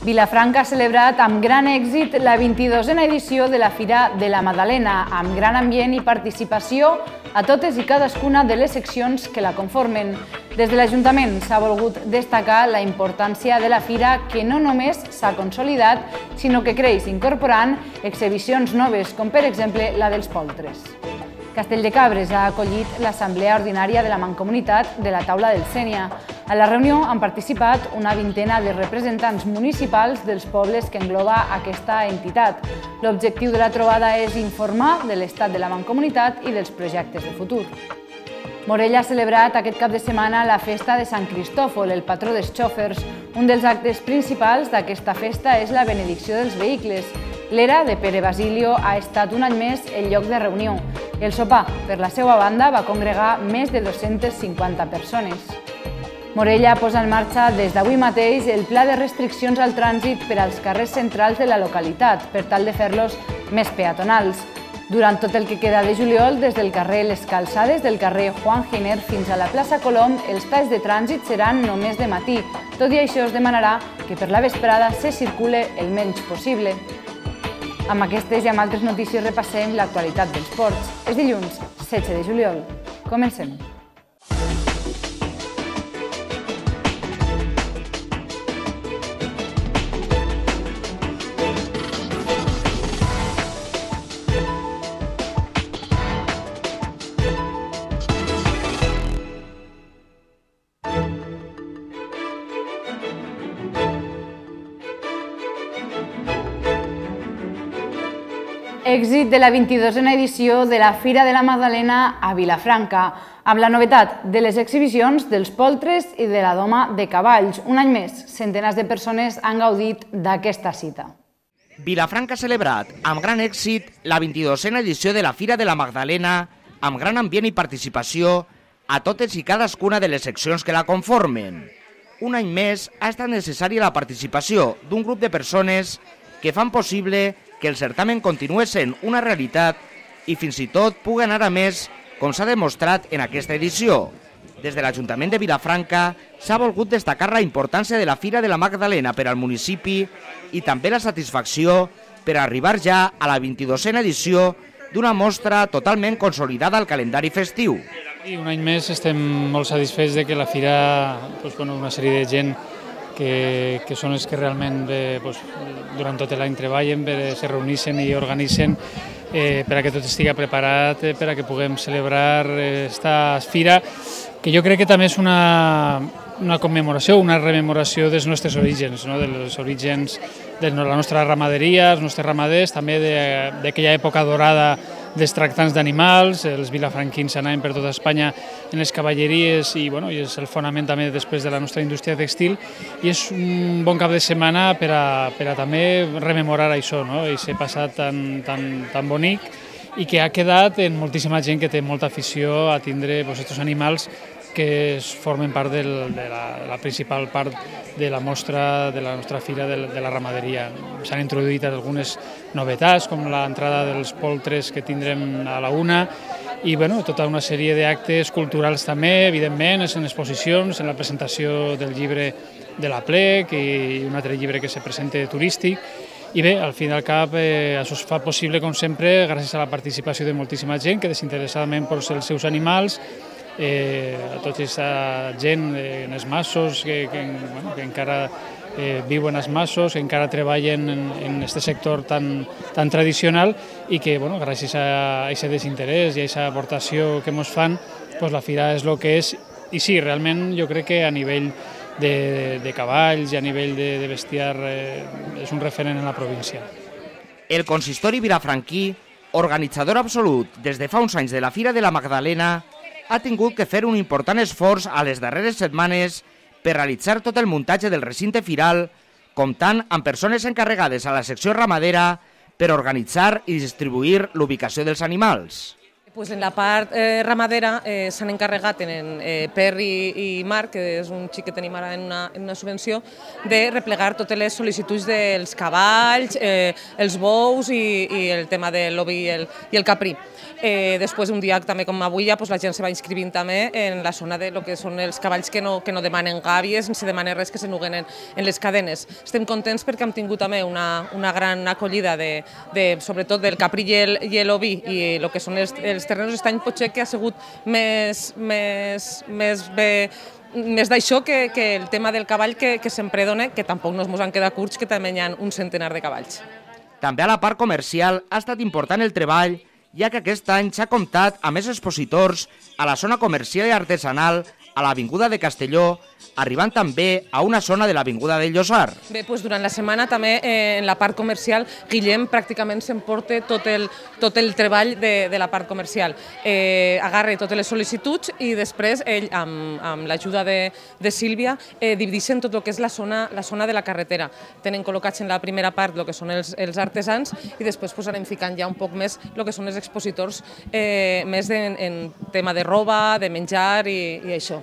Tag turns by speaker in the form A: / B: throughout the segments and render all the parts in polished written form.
A: Vilafranca ha celebrat amb gran èxit la 22a edició de la Fira de la Magdalena, amb gran ambient i participació a totes i cadascuna de les seccions que la conformen. Des de l'Ajuntament s'ha volgut destacar la importància de la fira, que no només s'ha consolidat, sinó que creix incorporant exhibicions noves, com per exemple la dels poltres. Castelldecabres ha acollit l'Assemblea Ordinària de la Mancomunitat de la Taula del Sénia. A la reunió han participat una vintena de representants municipals dels pobles que engloba aquesta entitat. L'objectiu de la trobada és informar de l'estat de la Mancomunitat i dels projectes de futur. Morella ha celebrat aquest cap de setmana la festa de Sant Cristòfol, el patró dels xòfers. Un dels actes principals d'aquesta festa és la benedicció dels vehicles. L'era de Pere Basilio ha estat un any més el lloc de reunió. El sopar, per la seva banda, va congregar més de 250 persones. Morella posa en marxa des d'avui mateix el pla de restriccions al trànsit per als carrers centrals de la localitat, per tal de fer-los més peatonals. Durant tot el que queda de juliol, des del carrer Les Calçades del carrer Juan Giner fins a la plaça Colom, els talls de trànsit seran només de matí. Tot i això es demanarà que per la vesprada se circule el menys possible. Amb aquestes i amb altres notícies repassem l'actualitat dels ports. És dilluns, 16 de juliol. Comencem. Èxit de la 22a edició de la Fira de la Magdalena a Vilafranca, amb la novetat de les exhibicions dels poltres i de la doma de cavalls. Un any més, centenars de persones han gaudit d'aquesta cita.
B: Vilafranca ha celebrat amb gran èxit la 22a edició de la Fira de la Magdalena, amb gran ambient i participació a totes i cadascuna de les seccions que la conformen. Un any més ha estat necessària la participació d'un grup de persones que fan possible que el certamen continua sent una realitat i fins i tot pugui anar a més, com s'ha demostrat en aquesta edició. Des de l'Ajuntament de Vilafranca s'ha volgut destacar la importància de la Fira de la Magdalena per al municipi i també la satisfacció per arribar ja a la 22a edició d'una mostra totalment consolidada al calendari festiu.
C: I un any més estem molt satisfets de que la Fira, una sèrie de gent que són els que realment durant tot l'any treballen, se reuneixen i organitzen per a que tot estigui preparat, per a que puguem celebrar aquesta fira, que jo crec que també és una commemoració, una rememoració dels nostres orígens, dels orígens de la nostra ramaderia, els nostres ramaders, també d'aquella època dorada dels tractants d'animals. Els vilafranquins anaven per tota Espanya en les cavalleries i és el fonament també després de la nostra indústria textil, i és un bon cap de setmana per a també rememorar això, aquest passat tan bonic, i que ha quedat en moltíssima gent que té molta afició a tindre aquests animals que formen part de la principal part de la mostra de la nostra fira de la ramaderia. S'han introduït algunes novetats, com l'entrada dels poltres que tindrem a la una, i tota una sèrie d'actes culturals també, evidentment, en exposicions, en la presentació del llibre de la Plec i un altre llibre que se presenta turístic. I bé, al fin i al cap, això es fa possible, com sempre, gràcies a la participació de moltíssima gent que desinteressadament posa els seus animals, a tota aquesta gent en els masos que encara viuen als masos, que encara treballen en aquest sector tan tradicional, i que gràcies a aquest desinterès i a aquesta aportació que ens fan, la fira és el que és. I sí, realment jo crec que a nivell de cavalls i a nivell de bestiar és un referent en la província.
B: El consistori vilafranquí, organitzador absolut des de fa uns anys de la Fira de la Magdalena, ha tingut que fer un important esforç a les darreres setmanes per realitzar tot el muntatge del recinte firal, comptant amb persones encarregades a la secció ramadera per organitzar i distribuir l'ubicació dels animals.
D: Pues en la part ramadera s'han encarregat Per i Marc, que és un xic que tenim ara en una subvenció, de replegar totes les sol·licituds dels cavalls, els bous i el tema de l'ovi i el caprí. Després, un dia també com avui, ja, la gent se va inscrivint també en la zona de lo que són els cavalls que no demanen gàbies, ni se demana res, que se nuguen en les cadenes. Estem contents perquè hem tingut també una gran acollida sobretot del caprí i l'ovi i el que són els terrenys. Aquest any potser que ha sigut més d'això que el tema del cavall que sempre dona, que tampoc no ens han quedat curts, que també hi ha un centenar de cavalls.
B: També a la part comercial ha estat important el treball, ja que aquest any s'ha comptat amb més expositors a la zona comercial i artesanal a l'Avinguda de Castelló, arribant també a una zona de l'Avinguda del Llosar.
D: Bé, doncs durant la setmana també en la part comercial Guillem pràcticament s'emporta tot el treball de la part comercial. Agarra totes les sol·licituds i després ell, amb l'ajuda de Sílvia, divideixen tot el que és la zona de la carretera. Tenen col·locats en la primera part el que són els artesans i després anem ficant ja un poc més el que són els expositors més en tema de roba, de menjar i això.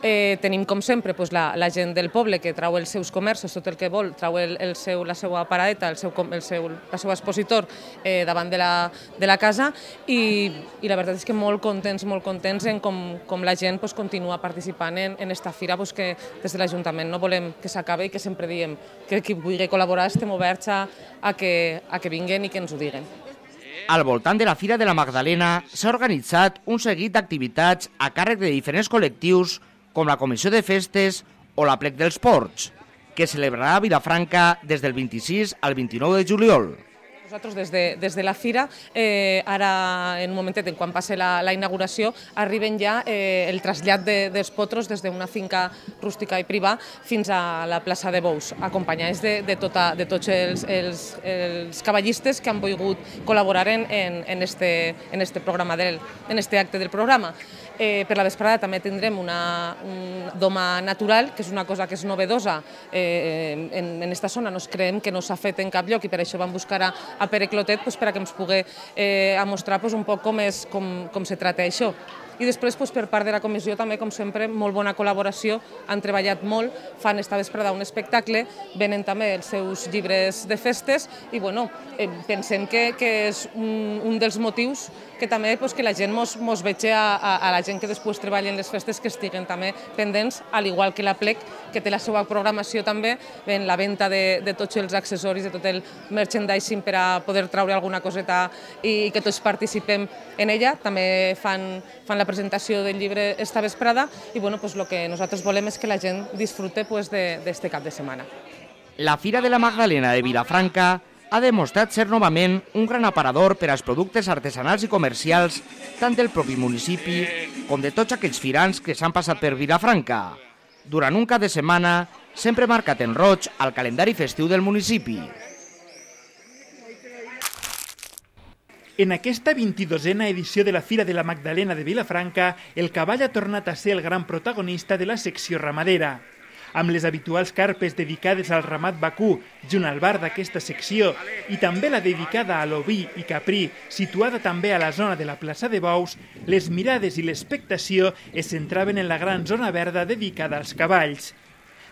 D: Tenim, com sempre, la gent del poble que trau els seus comerços, tot el que vol, trau la seva paradeta, el seu expositor davant de la casa i la veritat és que molt contents en com la gent continua participant en aquesta fira, que des de l'Ajuntament no volem que s'acabi i que sempre diem que qui vulgui col·laborar estem oberts a que vinguin i que ens ho diguen.
B: Al voltant de la Fira de la Magdalena s'ha organitzat un seguit d'activitats a càrrec de diferents col·lectius com la Comissió de Festes o la Plec dels Ports, que celebrarà a Vilafranca des del 26 al 29 de juliol.
D: Nosaltres des de la fira, ara en un momentet, quan passi la inauguració, arriben ja el trasllat dels potros des d'una finca rústica i privada fins a la plaça de Bous, acompanyats de tots els cavallistes que han volgut col·laborar en este acte del programa. Per la vesprada també tindrem una doma natural, que és una cosa que és novedosa en aquesta zona. Nos creiem que no s'ha fet en cap lloc i per això vam buscar a Pere Clotet perquè ens pugui mostrar un poc com se tracta això. I després, per part de la comissió, també, com sempre, molt bona col·laboració, han treballat molt, fan esta vesprada un espectacle, venen també els seus llibres de festes i pensem que és un dels motius que també que la gent mos vegi a la gent que després treballa en les festes que estiguen també pendents, al igual que la Plec, que té la seva programació també, en la venda de tots els accessoris, de tot el merchandising per a poder treure alguna coseta i que tots participem en ella. També fan la presentació del llibre esta vesprada i el que nosaltres volem és que la gent disfrute d'aquest cap de setmana.
B: La Fira de la Magdalena de Vilafranca ha demostrat ser novament un gran aparador per als productes artesanals i comercials tant del propi municipi com de tots aquells firans que s'han passat per Vilafranca, durant un cap de setmana sempre marcat en roig al calendari festiu del municipi.
E: En aquesta 22a edició de la Fira de la Magdalena de Vilafranca, el cavall ha tornat a ser el gran protagonista de la secció ramadera. Amb les habituals carpes dedicades al ramat vacú junt al bar d'aquesta secció i també la dedicada a l'oví i caprí, situada també a la zona de la plaça de Bous, les mirades i l'expectació es centraven en la gran zona verda dedicada als cavalls.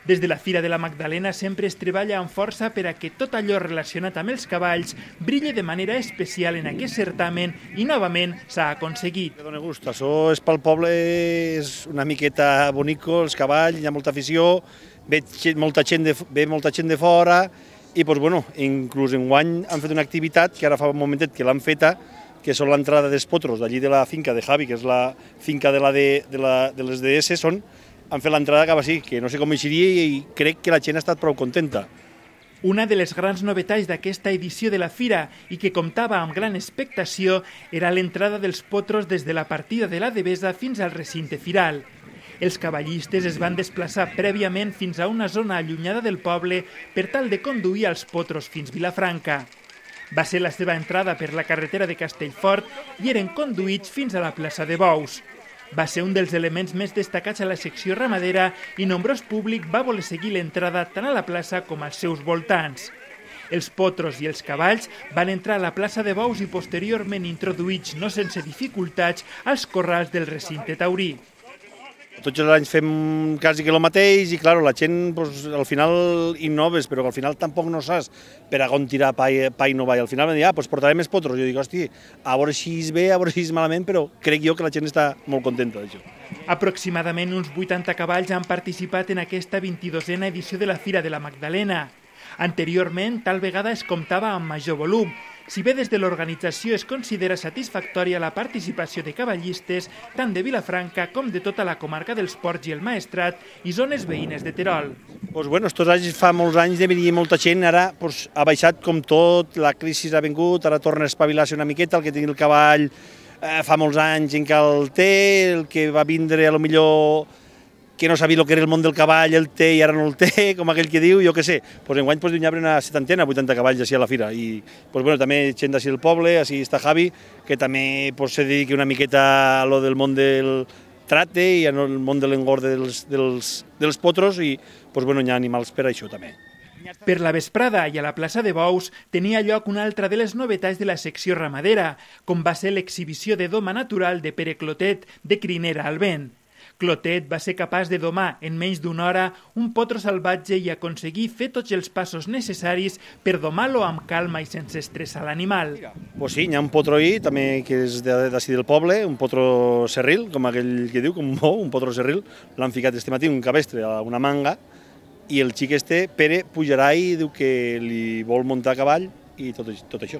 E: Des de la Fira de la Magdalena sempre es treballa amb força per a que tot allò relacionat amb els cavalls brilli de manera especial en aquest certamen i novament s'ha aconseguit.
F: Dóna gust, això és pel poble, és una miqueta bonico, els cavalls, hi ha molta afició, ve molta gent de fora i inclús enguany han fet una activitat que ara fa un momentet que l'han feta, que són l'entrada dels potros d'allí de la finca de Javi, que és la finca de les DS, han fet l'entrada cap així, que no sé com eixiria i crec que la gent ha estat prou contenta.
E: Una de les grans novetats d'aquesta edició de la Fira i que comptava amb gran expectació era l'entrada dels potros des de la partida de la Devesa fins al recinte firal. Els cavallistes es van desplaçar prèviament fins a una zona allunyada del poble per tal de conduir els potros fins Vilafranca. Va ser la seva entrada per la carretera de Castellfort i eren conduïts fins a la plaça de Bous. Va ser un dels elements més destacats a la secció ramadera i nombrós públic va voler seguir l'entrada tant a la plaça com als seus voltants. Els potros i els cavalls van entrar a la plaça de bous i posteriorment introduïts, no sense dificultats, als corrals del recinte taurí.
F: Tots els anys fem quasi que el mateix i, clar, la gent al final innoves, però al final tampoc no saps per a on tirar pa i no va. I al final em diuen, portaré més potros. Jo dic, hosti, a veure si és bé, a veure si és malament, però crec jo que la gent està molt contenta d'això.
E: Aproximadament uns 80 cavalls han participat en aquesta 22a edició de la Fira de la Magdalena. Anteriorment, tal vegada es comptava amb major volum. Si bé des de l'organització es considera satisfactòria la participació de cavallistes tant de Vilafranca com de tota la comarca dels Ports i el Maestrat i zones veïnes de Terol.
F: Estos anys, fa molts anys de venir molta gent, ara ha baixat com tot, la crisi ha vingut, ara torna a espavilar-se una miqueta, el que tingui el cavall fa molts anys encara el té, el que va vindre a lo millor que no sabia el que era el món del cavall, el té i ara no el té, com aquell que diu, jo què sé. Enguany n'hi ha una 70, 80 cavalls així a la fira. I també gent d'ací del poble, així està Javi, que també se dedica una miqueta a lo del món del tracte i al món de l'engorde dels potros i hi ha animals per això també.
E: Per la vesprada i a la plaça de Bous tenia lloc una altra de les novetats de la secció ramadera, com va ser l'exhibició de doma natural de Pere Clotet, de Crinera al Vent. Clotet va ser capaç de domar en menys d'una hora un potro salvatge i aconseguir fer tots els passos necessaris per domar-lo amb calma i sense estressar l'animal.
F: Sí, hi ha un potro ahí, també que és d'ací del poble, un potro serril, com aquell que diu, com un potro serril. L'han ficat este matí un cabestre a una manga i el xic Pere, pujarà i diu que li vol muntar a cavall i tot això.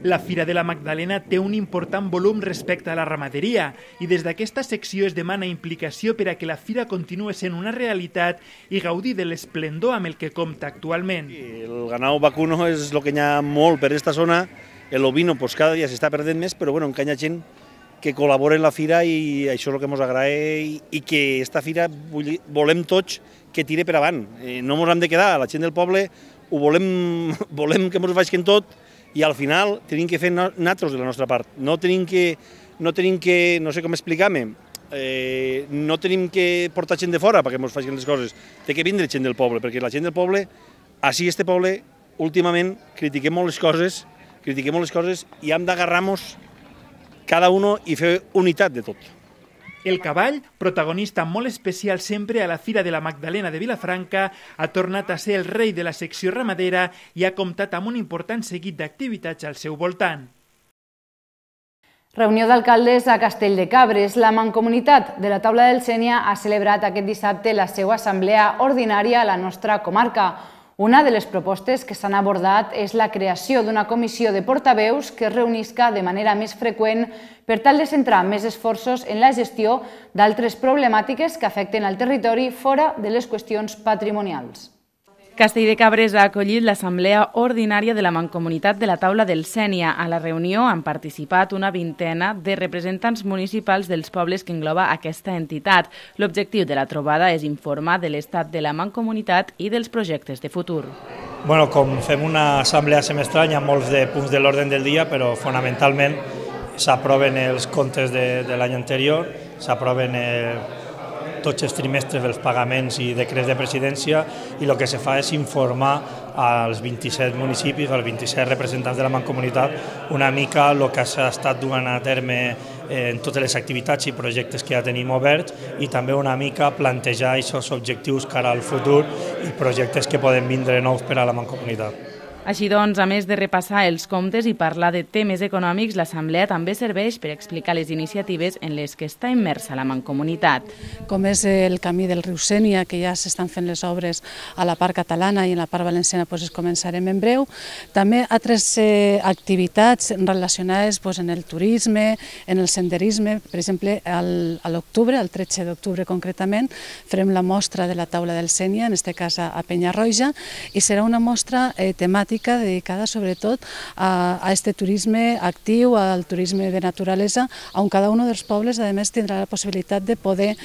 E: La Fira de la Magdalena té un important volum respecte a la ramaderia i des d'aquesta secció es demana implicació per a que la fira continuï sent una realitat i gaudir de l'esplendor amb el que compta actualment.
F: El ganado vacuno és el que hi ha molt per aquesta zona, l'ovino cada dia s'està perdent més, però encara hi ha gent que col·labora en la fira i això és el que ens agrada i que aquesta fira volem tots que tire per avant. No ens hem de quedar, la gent del poble ho volem que ens vagin tot i al final tenim que fer nosaltres de la nostra part. No tenim que, no sé com explicar-me, no tenim que portar gent de fora perquè ens facin les coses. Té que vindre gent del poble, perquè la gent del poble, així este poble, últimament critiquem molt les coses i hem d'agarrar-nos cada uno i fer unitat de tot.
E: El cavall, protagonista molt especial sempre a la Fira de la Magdalena de Vilafranca, ha tornat a ser el rei de la secció ramadera i ha comptat amb un important seguit d'activitats al seu voltant.
A: Reunió d'alcaldes a Castell de Cabres. La Mancomunitat de la Taula del Sénia ha celebrat aquest dissabte la seva assemblea ordinària a la nostra comarca. Una de les propostes que s'han abordat és la creació d'una comissió de portaveus que es reunisca de manera més freqüent per tal de centrar més esforços en la gestió d'altres problemàtiques que afecten al territori fora de les qüestions patrimonials.
G: Castell de Cabres ha acollit l'assemblea ordinària de la Mancomunitat de la Taula del Sénia. A la reunió han participat una vintena de representants municipals dels pobles que engloba aquesta entitat. L'objectiu de la trobada és informar de l'estat de la Mancomunitat i dels projectes de futur.
H: Com fem una assemblea semestral, hi ha molts de punts de l'ordre del dia, però fonamentalment s'aproven els comptes de l'any anterior, s'aproven tots els trimestres dels pagaments i decrets de presidència i el que se fa és informar als 27 municipis, als 27 representants de la Mancomunitat una mica el que s'ha estat duent a terme en totes les activitats i projectes que ja tenim oberts i també una mica plantejar aquests objectius cara al futur i projectes que poden vindre nous per a la Mancomunitat.
G: Així doncs, a més de repassar els comptes i parlar de temes econòmics, l'Assemblea també serveix per explicar les iniciatives en les que està immersa la Mancomunitat.
I: Com és el camí del riu Sénia, que ja s'estan fent les obres a la part catalana i en la part valenciana es començarem en breu. També altres activitats relacionades en el turisme, en el senderisme. Per exemple, a l'octubre, el 13 d'octubre concretament, farem la mostra de la Taula del Sénia, en aquest cas a Penyarroja, i serà una mostra temàtica dedicada sobretot a este turisme actiu, al turisme de naturalesa, on cada un dels pobles a més tindrà la possibilitat de poder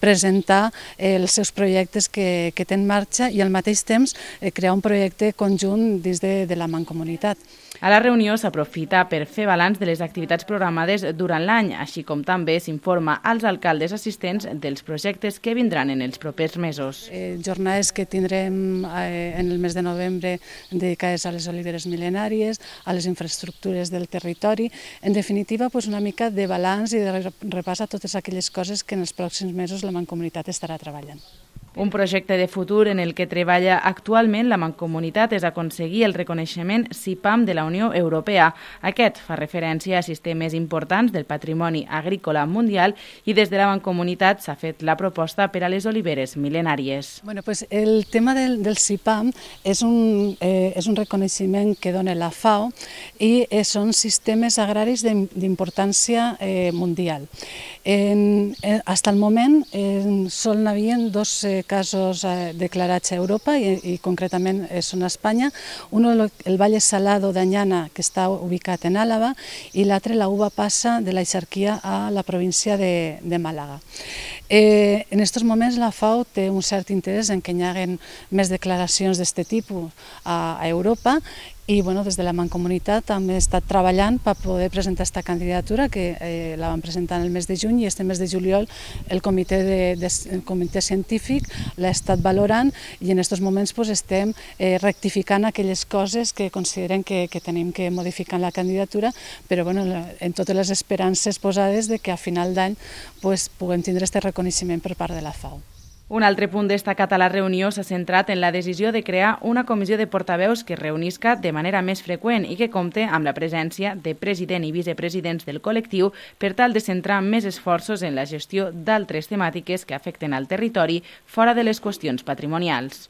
I: presentar els seus projectes que té en marxa i al mateix temps crear un projecte conjunt dins de la Mancomunitat.
G: A la reunió s'aprofita per fer balanç de les activitats programades durant l'any, així com també s'informa als alcaldes assistents dels projectes que vindran en els propers mesos.
I: Jornades que tindrem en el mes de novembre dedicades a les oliveres mil·lenàries, a les infraestructures del territori, en definitiva una mica de balanç i de repàs a totes aquelles coses que en els pròxims mesos la Mancomunitat estarà treballant.
G: Un projecte de futur en el que treballa actualment la Mancomunitat és aconseguir el reconeixement CIPAM de la Unió Europea. Aquest fa referència a sistemes importants del patrimoni agrícola mundial i des de la Mancomunitat s'ha fet la proposta per a les oliveres mil·lenàries.
I: El tema del CIPAM és un reconeixement que dona la FAO i són sistemes agraris d'importància mundial. Fins al moment sol n'havien dos casos declarats a Europa i concretament són a Espanya. Un, el Valle Salado d'Anyana, que està ubicat en Àlava, i l'altre, la uva passa de l'Eixarquia a la província de Màlaga. En aquests moments la FAO té un cert interès en que hi hagi més declaracions d'aquest tipus a Europa i des de la Mancomunitat també he estat treballant per poder presentar aquesta candidatura que la vam presentar en el mes de juny i este mes de juliol el comitè científic l'ha estat valorant i en aquests moments estem rectificant aquelles coses que consideren que tenim que modificar en la candidatura, però en totes les esperances posades que a final d'any puguem tindre aquest reconeixement per part de la FAO.
G: Un altre punt destacat a la reunió s'ha centrat en la decisió de crear una comissió de portaveus que es reunisca de manera més freqüent i que compte amb la presència de president i vicepresidents del col·lectiu per tal de centrar més esforços en la gestió d'altres temàtiques que afecten al territori fora de les qüestions patrimonials.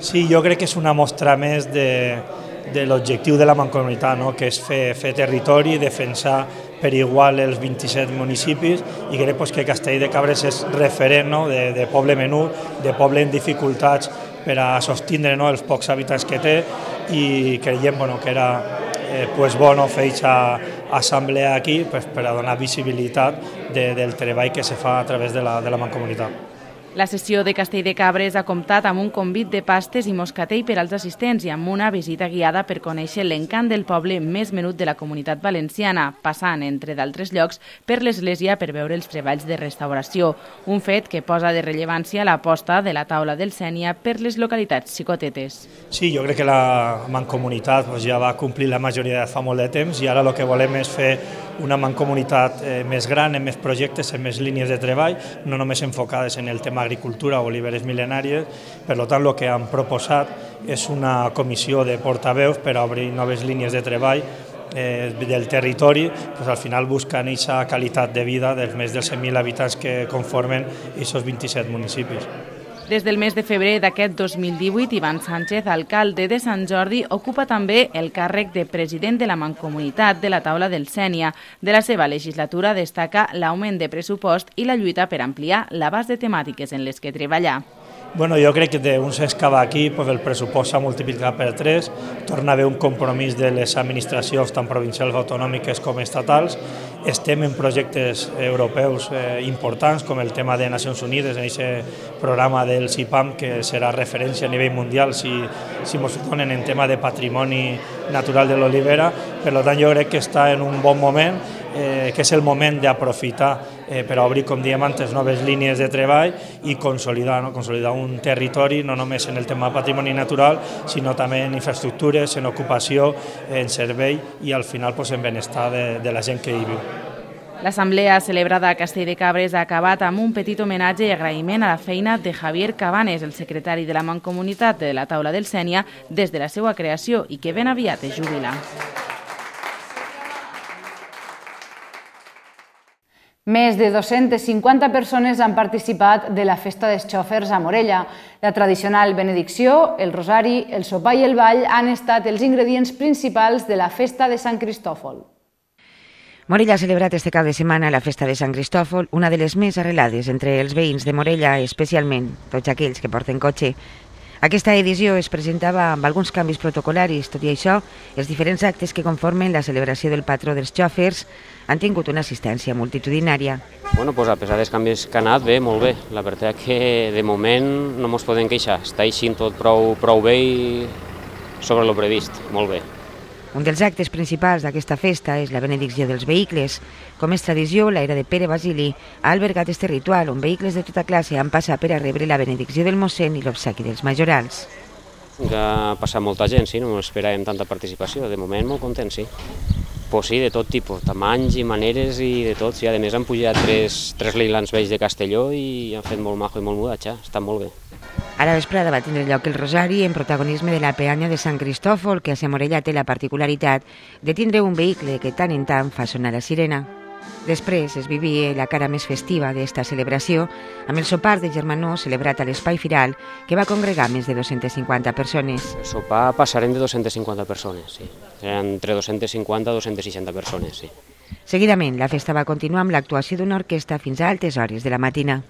H: Sí, jo crec que és una mostra més de l'objectiu de la Mancomunitat, que és fer territori, defensar per igual els 27 municipis i crec que Castell de Cabres és referent de poble menut, de poble en dificultats per a sostindre els pocs habitants que té i creiem que era bo fer aquesta assemblea aquí per a donar visibilitat del treball que se fa a través de la Mancomunitat.
G: La sessió de Castell de Cabres ha comptat amb un convit de pastes i moscatell per als assistents i amb una visita guiada per conèixer l'encant del poble més menut de la Comunitat Valenciana, passant, entre d'altres llocs, per l'església per veure els treballs de restauració, un fet que posa de rellevància l'aposta de la taula del Sénia per les localitats xicotetes.
H: Sí, jo crec que la Mancomunitat ja va complir la majoria de fa molt de temps i ara el que volem és fer una Mancomunitat més gran, amb més projectes, amb més línies de treball, no només enfocades en el tema agricultura o oliveres mil·lenàries. Per tant, el que han proposat és una comissió de portaveus per obrir noves línies de treball del territori, al final buscant aquesta qualitat de vida dels més dels 100.000 habitants que conformen aquests 27 municipis.
G: Des del mes de febrer d'aquest 2018, Ivan Sánchez, alcalde de Sant Jordi, ocupa també el càrrec de president de la Mancomunitat de la taula del Sénia. De la seva legislatura destaca l'augment de pressupost i la lluita per ampliar l'abast de temàtiques en les que treballa.
H: Jo crec que d'un s'excava aquí el pressupost s'ha multiplicat per 3, torna a haver un compromís de les administracions tant provincials, autonòmiques com estatals. Estem en projectes europeus importants com el tema de Nacions Unides, en aquest programa del CIPAM que serà referència a nivell mundial si ens donen en tema de patrimoni natural de l'olivera. Per tant, jo crec que està en un bon moment, que és el moment d'aprofitar per obrir, com diem antes, noves línies de treball i consolidar un territori no només en el tema de patrimoni natural, sinó també en infraestructures, en ocupació, en servei i al final en benestar de la gent que hi viu.
G: L'assemblea celebrada a Castell de Cabres ha acabat amb un petit homenatge i agraïment a la feina de Javier Cabanes, el secretari de la Mancomunitat de la taula del Sénia, des de la seva creació i que ben aviat es jubila.
A: Més de 250 persones han participat de la Festa dels Xòfers a Morella. La tradicional benedicció, el rosari, el sopar i el ball han estat els ingredients principals de la Festa de Sant Cristòfol.
J: Morella ha celebrat este cap de setmana la Festa de Sant Cristòfol, una de les més arrelades entre els veïns de Morella, especialment tots aquells que porten cotxe. Aquesta edició es presentava amb alguns canvis protocolaris. Tot i això, els diferents actes que conformen la celebració del patró dels xòfers han tingut una assistència multitudinària.
K: A pesar dels canvis que ha anat, bé, molt bé. La veritat que de moment no ens podem queixar. Està així tot prou bé i sobre el previst, molt bé.
J: Un dels actes principals d'aquesta festa és la benedicció dels vehicles. Com és tradició, l'era de Pere Basili ha albergat este ritual on vehicles de tota classe han passat per a rebre la benedicció del mossèn i l'obsequi dels majorals.
K: Ha passat molta gent, sí, no esperàvem tanta participació. De moment, molt content, sí. Pues sí, de tot tipus, tamanys i maneres i de tot. Sí, a més han pujat tres leilans vells de Castelló i han fet molt majo i molt mudatge, està molt bé.
J: A la vesprada va tindre lloc el Rosari en protagonisme de la peanya de Sant Cristòfol, que a Sa Morella té la particularitat de tindre un vehicle que tant en tant fa sonar la sirena. Després es vivia la cara més festiva d'esta celebració amb el sopar de germanor celebrat a l'Espai Firal, que va congregar més de 250 persones.
K: El sopar passarem de 250 persones, sí. Seran entre 250 i 260 persones, sí.
J: Seguidament, la festa va continuar amb l'actuació d'una orquestra fins a altes hores de la matina.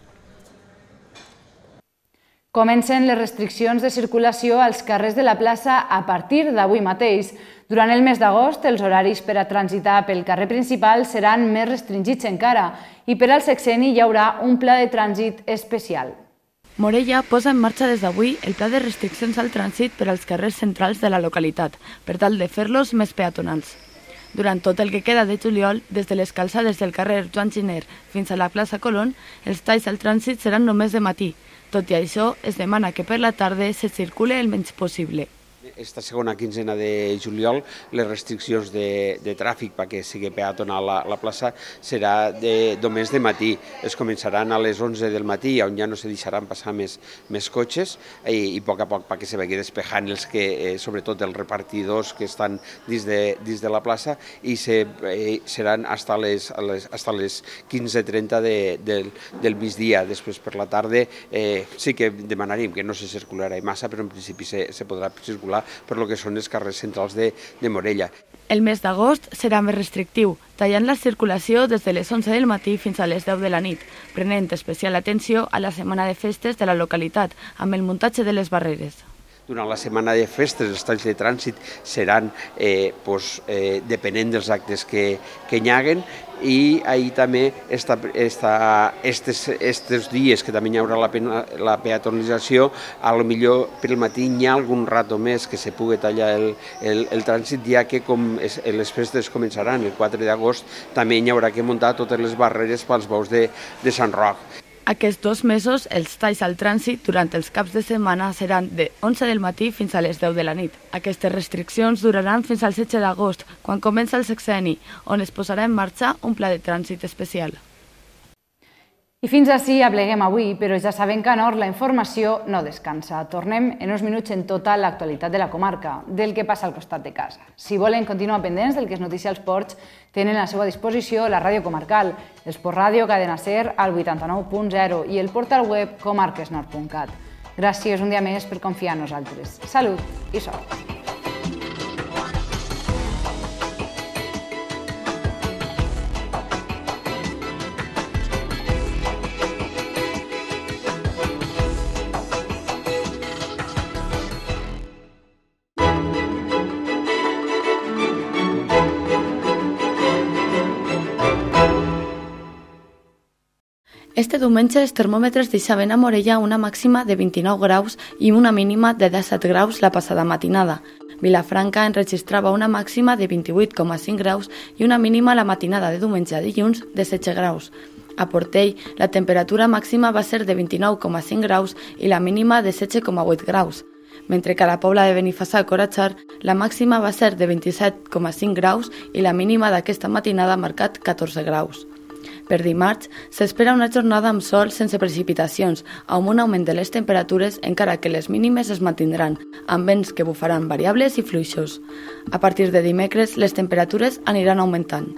A: Comencen les restriccions de circulació als carrers de la plaça a partir d'avui mateix. Durant el mes d'agost, els horaris per a transitar pel carrer principal seran més restringits encara i per al sexenni hi haurà un pla de trànsit especial.
G: Morella posa en marxa des d'avui el pla de restriccions al trànsit per als carrers centrals de la localitat, per tal de fer-los més peatonals. Durant tot el que queda de juliol, des de les calçades del carrer Joan Giner fins a la plaça Colón, els talls al trànsit seran només de matí. Tot i això, es demana que per la tarda se circule el menys possible.
L: Esta segona quinzena de juliol les restriccions de tràfic perquè sigui peatonal la plaça serà només de matí. Es començaran a les 11 del matí, on ja no se deixaran passar més cotxes i a poc perquè se vagi despejant els que, sobretot els repartidors que estan dins de la plaça, i seran hasta les 15:30 del migdia. Després per la tarda sí que demanaríem que no se circularà massa, però en principi se podrà circular per lo que són els carrers centrals de Morella.
G: El mes d'agost serà més restrictiu, tallant la circulació des de les 11 del matí fins a les 10 de la nit, prenent especial atenció a la setmana de festes de la localitat, amb el muntatge de les barreres.
L: Durant la setmana de festes els talls de trànsit seran depenent dels actes que hi haguen, i ahir també estos dies que també hi haurà la peatonalització, a lo millor pel matí hi ha algun rato més que se pugui tallar el trànsit, ja que com les festes començaran el 4 d'agost, també hi haurà que muntar totes les barreres pels bous de Sant Roc.
G: Aquests 2 mesos, els talls al trànsit durant els caps de setmana seran de 11 del matí fins a les 10 de la nit. Aquestes restriccions duraran fins al 16 d'agost, quan comença el sexenni, on es posarà en marxa un pla de trànsit especial.
A: I fins ací apleguem avui, però ja sabem que a Nord la informació no descansa. Tornem en uns minuts en tota l'actualitat de la comarca, del que passa al costat de casa. Si volen continuar pendents del que és notícia als ports, tenen a la seva disposició la ràdio comarcal, l'Esport Ràdio Cadena Ser al 89.0 i el portal web comarquesnord.cat. Gràcies un dia més per confiar en nosaltres. Salut i sort!
G: Este diumenge els termòmetres deixaven a Morella una màxima de 29 graus i una mínima de 17 graus la passada matinada. Vilafranca enregistrava una màxima de 28,5 graus i una mínima la matinada de diumenge a dilluns de 16 graus. A Portell, la temperatura màxima va ser de 29,5 graus i la mínima de 16,8 graus. Mentre que a la Pobla de Benifassà a Corachar, la màxima va ser de 27,5 graus i la mínima d'aquesta matinada ha marcat 14 graus. Per dimarts, s'espera una jornada amb sol sense precipitacions, amb un augment de les temperatures, encara que les mínimes es mantindran, amb vents que bufaran variables i fluixos. A partir de dimecres, les temperatures aniran augmentant.